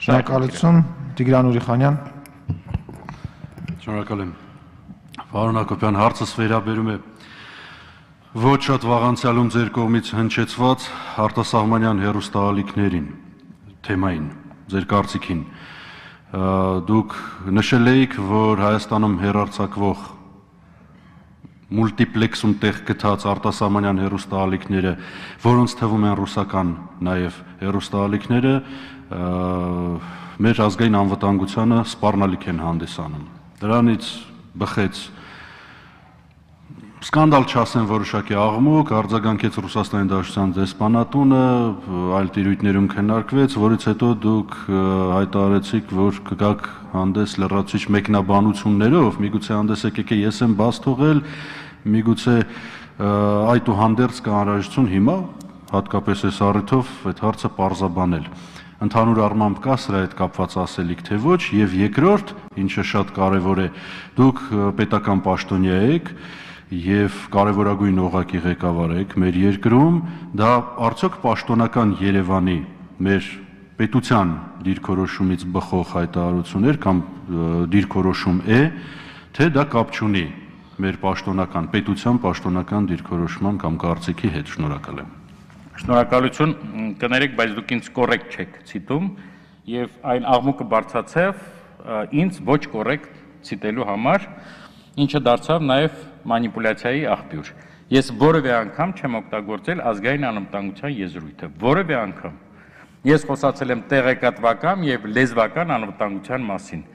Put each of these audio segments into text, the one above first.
Շնորհակալություն, Տիգրան Ուրիխանյան։ Շնորհակալ եմ։ Պարոն Հակոբյան, հարցս վերաբերում է ոչ շատ վաղանցյալում ձեր կողմից հնչեցված արտասահմանյան հեռուստաալիքներին, թեմային, ձեր կարծիքին։ Դուք նշել էիք, որ Հայաստանում հեռարձակվող մուլտիպլեքսում տեղ գտած արտասահմանյան հեռուստաալիքները, որոնց թվում են ռուսական նաև հեռուստաալիքները, մեր ազգային անվտանգությանը սպառնալիք են հանդիսանում։ Դրանից բխեց սկանդալ չասեն որոշակի աղմուկ, արձագանքեց Ռուսաստանի Դաշնության դեսպանատունը, այլ տիրույթներում քննարկվեց, որից հետո դուք հայտարարեցիք, որ կգաք հանդես լրացուցիչ մեկնաբանություններով, միգուցե հանդես եկեք ես եմ բաց թողել, միգուցե այդուհանդերձ կա անհրաժեշտություն հիմա, հատկապես այս առիթով այդ հարցը պարզաբանել։ Ընդհանուր առմամբ կա սրա հետ կապված ասելիք, թե ոչ, եւ երկրորդ, ինչը շատ կարեւոր է, դուք պետական պաշտոնյա եք եւ կարեւորագույն օղակի ղեկավար եք մեր երկրում, դա արդյոք պաշտոնական Երևանի մեր պետության դիրքորոշումից բխող հայտարարություններ կամ դիրքորոշում է, թե դա կապ չունի մեր պաշտոնական պետության պաշտոնական դիրքորոշման կամ կարծիքի հետ։ Շնորհակալ եմ։ Շնորհակալություն, կներեք, բայց դուք ինձ կոռեկտ չեք ցիտում եւ այն աղմուկը բարձրացավ ինձ ոչ կոռեկտ ցիտելու համար, ինչը դարձավ նաեւ մանիպուլյացիայի աղբյուր։ Ես որևէ անգամ չեմ օգտագործել ազգային անվտանգության եզրույթը, որևէ անգամ։ Ես խոսացել եմ տեղեկատվական եւ լեզվական անվտանգության մասին։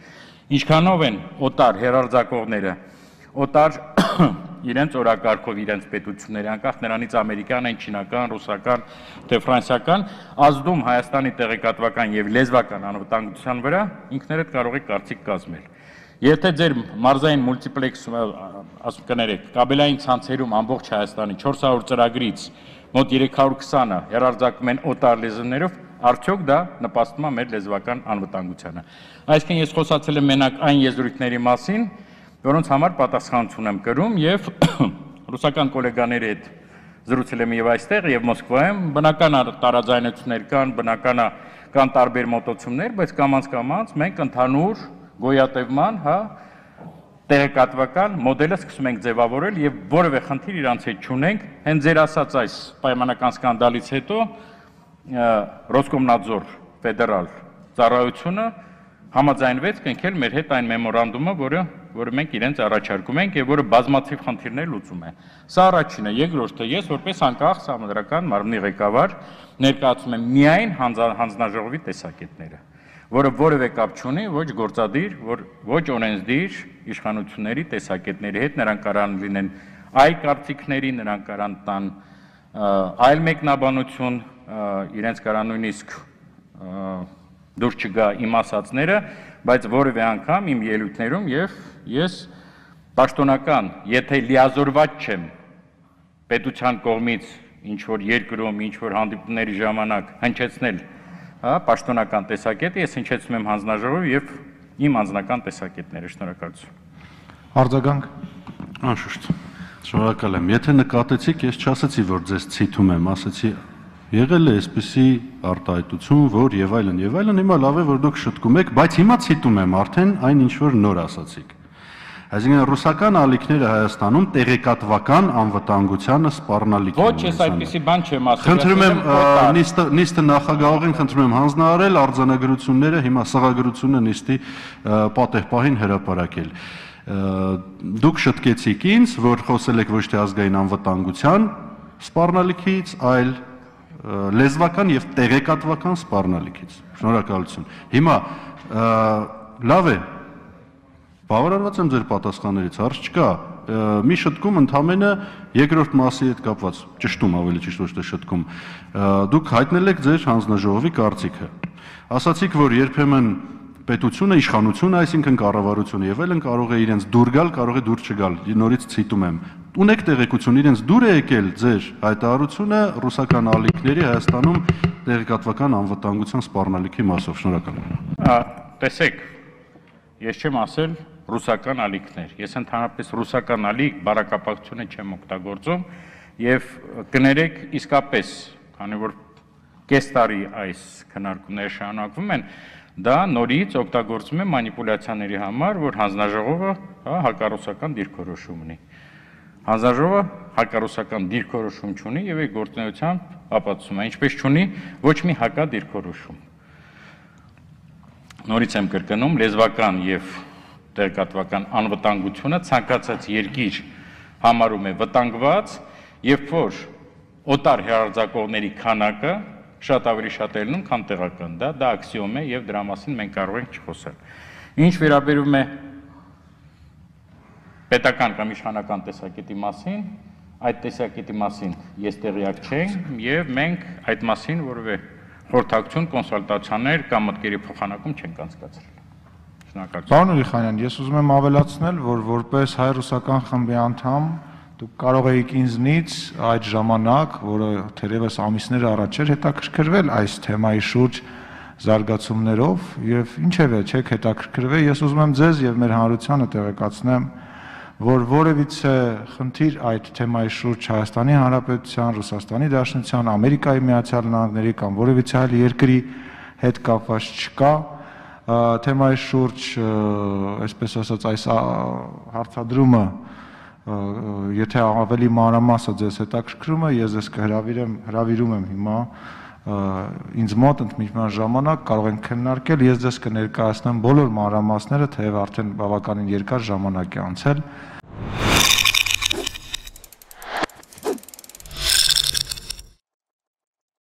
Ինչքանով են օտար հեռարձակողները, օտար իրենց օրակարգով իրենց պետությունների, անկախ նրանից ամերիկյան են, չինական, ռուսական, թե ֆրանսիական, ազդում Հայաստանի տեղեկատվական եւ լեզվական անվտանգության վրա, ինքներդ կարող եք կարծիք կազմել։ Եթե ձեր մարզային մուլտիպլեքս, ասում կներեք, կաբելային ցանցերում ամբողջ Հայաստանի 400 ծրագրից մոտ 320-ը հեռարձակվում են օտար լեզուներով, արդյոք դա նպաստում է մեր լեզվական անվտանգությանը։ Այսինքն ես խոսացել եմ մենակ այն եզրույթների մասին, որոնց համար պատասխանություն եմ կրում եւ ռուսական գոլեգաների հետ զրուցել եմ եւ այստեղ եւ Մոսկվայում, բնական տարաձայնություններ կան, բնական կան տարբեր մոտեցումներ, բայց կամաց մենք ընդհանուր գոյատևման, տեղեկատվական մոդելը սկսում ենք ձևավորել եւ որևէ խնդիր իրանց հետ չունենք։ Հենց ձեր ասած այս պայմանական սկանդալից հետո Ռոսկոմնadzor ֆեդերալ ծառայությունը համաձայնվեց կնքել մեր հետ այն մեմորանդումը, որը մենք իրենց առաջարկում ենք եւ որը բազմաթիվ խնդիրներ լուծում է։ Սա առաջինը, երկրորդը, ես որպես անկախ սահմանադրական մարմնի ղեկավար ներկայացում եմ միայն հանձնաժողովի տեսակետները, որը որևէ կապ չունի ոչ գործադիր, ոչ օրենսդիր իշխանությունների տեսակետների հետ, նրանք կարան լինեն այլ կարծիքների, նրանք կարան տան այլ մեկնաբանություն, իրենց կարան նույնիսկ դուր չգա իմ ասածները, բայց որևէ անգամ իմ ելույթներում եւ ես պաշտոնական, եթե լիազորված չեմ պետության կողմից ինչ որ երկրում, ինչ որ հանդիպումների ժամանակ հնչեցնել, պաշտոնական տեսակետը, ես հնչեցնում եմ հանձնաժողով եւ իմ անձնական տեսակետները։ Շնորհակալություն։ Արձագանք։ Անշուշտ։ Շնորհակալ եմ։ Եթե նկատեցիք, ես չասեցի, որ ձեզ ցիթում եմ, ասեցի եղել է այսպիսի արտահայտություն, որ եւ այլն, հիմա լավ է, որ դուք շտկում եք, բայց հիմա ցիտում եմ արդեն այն ինչ որ նոր ասացիք։ Այսինքն ռուսական ալիքները Հայաստանում տեղեկատվական անվտանգությանը սպառնալիք են։ Ոչ, ես այդպիսի բան չեմ ասել։ Խնդրում եմ նիստը նախագահողին խնդրում եմ հանձնարարել արձանագրությունները, հիմա սղագրությունը նիստի պատեհպահին հրապարակել։ Դուք շտկեցիք ինձ, որ խոսել եք ոչ թե ազգային անվտանգության սպառնալիքից, այլ լեզվական եւ տեղեկատվական սպառնալիքից։ Շնորհակալություն։ Հիմա լավ է, բավարարված եմ ձեր պատասխաններից, հարց չկա։ Մի շտկում ընդամենը երկրորդ մասի հետ կապված, ճշտում ավելի ճիշտ ոչ թե շտկում։ Դուք հայտնել եք ձեր հանձնաժողովի կարծիքը։ Ասացիք, որ երբեմն պետությունը, իշխանությունը, այսինքն կառավարությունը եւ այլն կարող է իրենց դուր գալ, կարող է դուր չգալ։ Նորից ցիտում եմ։ Ունեք տեղեկություն, իրենց դուր է եկել ձեր հայտարարությունը ռուսական ալիքների Հայաստանում տեղեկատվական անվտանգության սպառնալիքի մասով։ Շնորհակալ եմ։ Տեսեք, ես չեմ ասել ռուսական ալիքներ։ Ես ընդհանրապես ռուսական ալիք բառակապակցությունը չեմ օգտագործում եւ կներեք իսկապես, քանի որ կես տարի այս քննարկումները շարունակվում են, դա նորից օգտագործվում է մանիպուլյացիաների համար, որ հանձնաժողովը հակառուսական դիրքորոշում ունի։ Հանձնաժողովը հակառուսական դիրքորոշում չունի եւ այդ գործունեությամբ ապացուցում է, ինչպես չունի ոչ մի հակադիրքորոշում։ Նորից եմ կրկնում, լեզվական եւ տեղեկատվական անվտանգությունը ցանկացած երկիր համարում է վտանգված, երբ որ օտար հերարձակողների քանակը շատ ավելի շատ է լինում, քան տեղական, դա աքսիոմ է եւ դրա մասին մենք կարող ենք չխոսել։ Ինչ վերաբերում է պետական կամ իշխանական տեսակետի մասին, այդ տեսակետի մասին ես տեղյակ չեմ եւ մենք այդ մասին որևէ խորհրդակցություն, կոնսուլտացիաներ կամ մտքերի փոխանակում չենք անցկացրել։ Շնորհակալություն։ Պարոն Ուրիխանյան, ես ուզում եմ ավելացնել, որ որպես հայ-ռուսական խմբի անդամ դուք կարող եք ինձնից այդ ժամանակ, որը թերևս ամիսներ առաջ էր, հետաքրքրվել այս թեմայի շուրջ զարգացումներով եւ ինչևէ չեք հետաքրքրվել, ես ուզում եմ ձեզ եւ մեր հանրությանը տեղեկացնեմ, որ որևիցե խնդիր այդ թեմայի շուրջ Հայաստանի Հանրապետության, Ռուսաստանի Դաշնության, Ամերիկայի Միացյալ Նահանգների կամ որևիցե այլ երկրի հետ կապված չկա, թեմայի շուրջ, այսպես ասած, այս հարցադրումը, եթե ավելի մանրամասը ձեզ հետաքրքրում է, ես ձեզ հրավիրում եմ հիմա ինձ մոտ ընդմիջման ժամանակ կարող ենք քննարկել, ես ձեզ կներկայացնեմ բոլոր մանրամասները, թեև արդեն բավականին երկար ժամանակ է անցել,